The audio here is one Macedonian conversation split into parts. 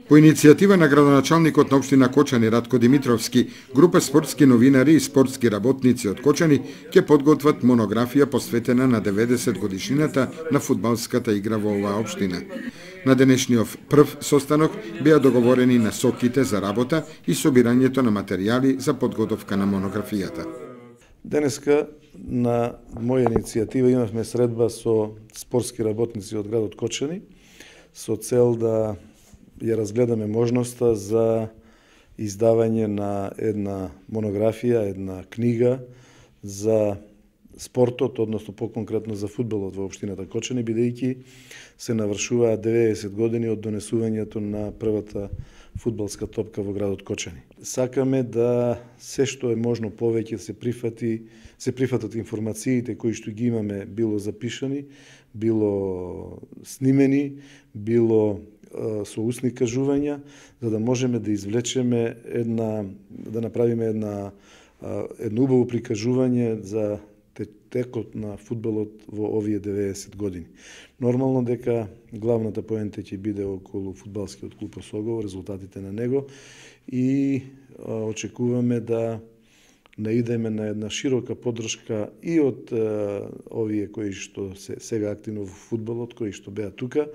По иницијатива на градоначалникот на општина Кочани Ратко Димитровски, група спортски новинари и спортски работници од Кочани ќе подготват монографија посветена на 90 годишнината на фудбалската игра во оваа општина. На денешниот прв состанок беа договорени насоките за работа и собирањето на материјали за подготовка на монографијата. Денеска на моја иницијатива имавме средба со спортски работници од градот Кочани со цел да ја разгледаме можноста за издавање на една монографија, една книга за спортот, односно поконкретно за фудбалот во општината Кочани, бидејќи се навршуваат 90 години од донесувањето на првата фудбалска топка во градот Кочани. Сакаме да се што е можно повеќе се прифатат информациите кои што ги имаме било запишани, било снимени, било со устни кажувања, за да можеме да извлечеме да направиме едно убаво прикажување за текот на фудбалот во овие 90 години. Нормално дека главната поента ќе биде околу фудбалскиот клуб Осогово, резултатите на него и очекуваме да наидеме на една широка поддршка и од овие кои што се сега активно во фудбалот, кои што беа тука,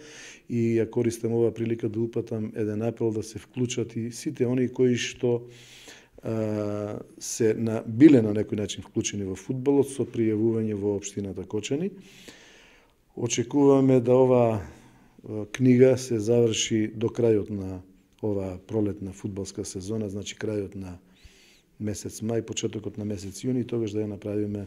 и ја користам оваа прилика да упатам еден апел да се вклучат и сите оние кои што се биле на некој начин вклучени во фудбалот со пријавување во општината Кочани. Очекуваме да оваа книга се заврши до крајот на оваа пролетна фудбалска сезона, значи крајот на месец мај, почетокот на месец јуни, тогаш да ја направиме